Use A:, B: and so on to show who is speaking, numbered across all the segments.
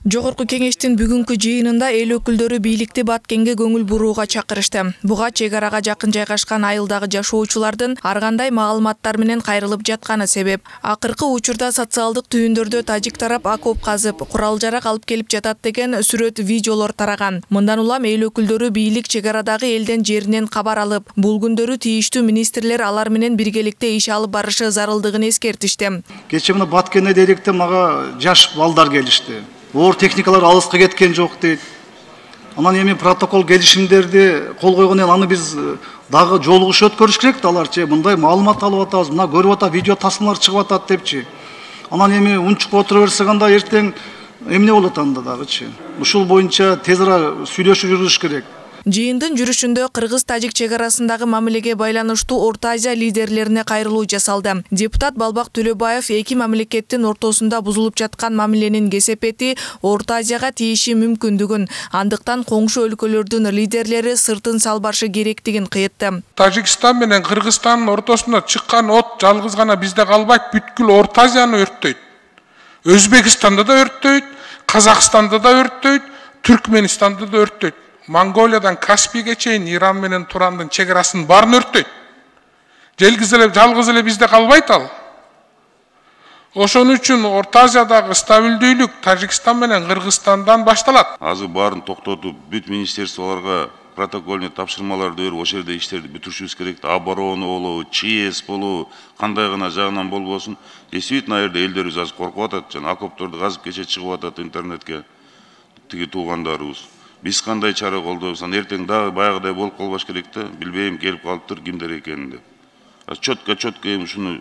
A: Жогорку кеңештин бүгүнкү жыйынында эл өкүлдөрү бийликти Баткенге көңүл бурууга чакырышты. Буга чек арага жакын жайгашкан айылдагы жашоочулардын ар кандай маалыматтар менен кайрылып жатканы себеп. Акыркы учурда социалдык түйүндөрдө тажик тарап окоп казып, курал-жарак алып келип жатат деген сүрөт, видеолор тараган. Мындан улам эл өкүлдөрү бийлик чек арадагы элдин жеринен кабар алып, бул күндөрү тийиштүү министрлер алар менен биргеликте иш алып барышы зарылдыгын эскертишти.
B: Кечээ мына Баткенде дейлекте мага жаш балдар келишти. Оор техникалар алыска кеткен жок дейт. Анан эми протокол келишимдерди кол койгон эл аны биз дагы жолугуш өткөрүш керек да аларчы. Мындай маалымат алып атабыз, мына көрүп атат, видео тасмалар чыгып атат депчи. Анан эми унчуп отура берсек анда эртең эмне болот анда дагычы. Ушул боюнча тез ара сүйлөшүү жүргүзүш керек.
A: Жыйындын жүрүшүндө кыргыз-тажик чек арасындагы мамилеге байланыштуу Орто Азия лидерлерине кайрылуу жасалды. Депутат Балбак Төлөбаев эки мамлекеттин ортосунда бузулуп жаткан мамиленин кесепети Орто Азияга тийиши мүмкүндүгүн, андыктан коңшу өлкөлөрдүн лидерлери сыртын салбашы керектигин кыйтты.
C: Тажикстан менен Кыргызстандын ортосунда чыккан от жалгыз гана бизде калбайт, бүткүл Орто Азияны өрттөйт. Өзбекстанда да өрттөйт, Казакстанда да өрттөйт, Түркмөнстанда да өрттөйт. Монголиядан Каспийге чейин Иран менен Турандын чек арасын баарын өрттөйт. Жалгыз эле бизде калбайт ал. Ошон үчүн Орто Азиядагы стабилдүүлүк Тажикстан менен Кыргызстандан башталат.
D: Азыр баарын токтотуп, бүт министрлияларга протокольный тапшырмаларды берип, ошол жерде иштерди бүтүрүшүбүз керек. Оборона болобу, ЧС болобу, кандай гана жагынан болбосун. Действительно, жерде элдерибиз азыр коркуп атат, жана окопторду казып кече чыгып атат интернетке. Тиги туугандарыбыз. Биз кандай чара колдойбуз, эртең дагы баягыдай болуп калбаш керек да, билбейм келип калыптыр кимдер экенин деп. Чөткө эми ушуну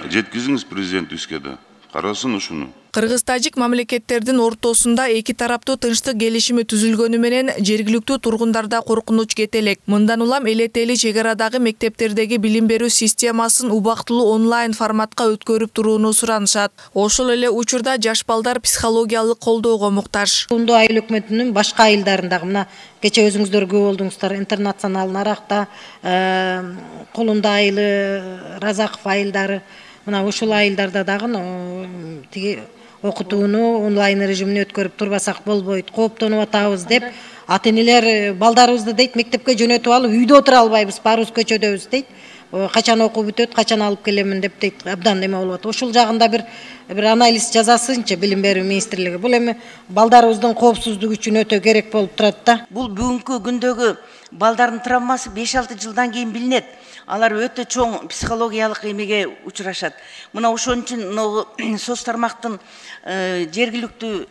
D: жеткизиңиз президентибизге да. Карасын ушуну.
A: Кыргыз-тажик мамлекеттердин ортосунда эки тараптуу тынчтык келишими түзүлгөнү менен жергиликтүү тургундарда коркунуч кетелек. Мындан улам элетели чек арадагы мектептердеги билим берүү системасын убактылуу онлайн форматка өткөрүп турууну суранышат. Ошол эле учурда жаш балдар психологиялык колдоого муктаж.
E: Колундуу айыл өкмөтүнүн башка айылдарындагы мына кече өзүңүздөр көп болдуңуздар, Интернационал Наракта, Колундуу айылы, Разаков айылдары, мына ушул айылдарда дагы тиги окутууну онлайн режимине өткөрүп турбасак болбойт, кооптонуп атабыз деп ата-энелер балдарыбызды дейт мектепке жөнөтүп алып, үйдө отура албайбыз, баарыбыз көчөдөбүз дейт. Качан окуу бүтөт, качан алып келемин деп дейт, абдан эме болуп атат. Ошол жагында бир анализ жасасынчы билим берүү министрлиги. Бул эми балдарыбыздын коопсуздугу үчүн өтө керек болуп турат да.
F: Бул бүгүнкү күндөгү балдардын травмасы 5-6 жылдан кийин билинет. Алар өтө чоң психологиялык эмеге учурашат. Мына ошон үчүн соц тармактын жергиликтүү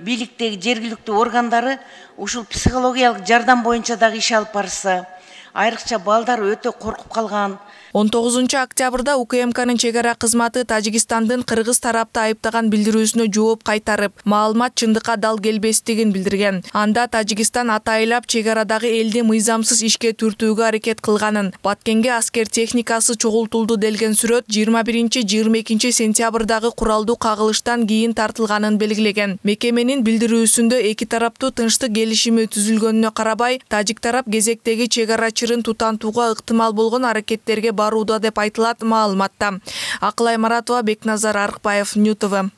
F: бийликтеги жергиликтүү органдары ушул психологиялык жардам боюнча дагы иш алып барса, айрыкча балдар өтө коркуп калган.
A: 19 октябрда УКМКнын чек ара кызматы Тажикстандын кыргыз тарапты айыптаган билдирүүсүнө жооп кайтарып, маалымат чындыкка дал келбестигин билдирген. Анда Тажикстан атайлап чек арадагы элди мыйзамсыз ишке түртүүгө аракет кылганын, Баткенге аскер техникасы чогултулду делген сүрөт 21-22 сентябрдагы куралдуу кагылыштан кийин тартылганын белгилеген. Мекеменин билдирүүсүндө эки тараптуу тынчтык келишими түзүлгөнүнө карабай, тажик тарап кезектеги чек арачырын тутантууга ыктымал болгон аракеттерге барууда деп айтылат маалыматта. Акылай Маратова, Бекназар Арыкбаев, Нью ТВ.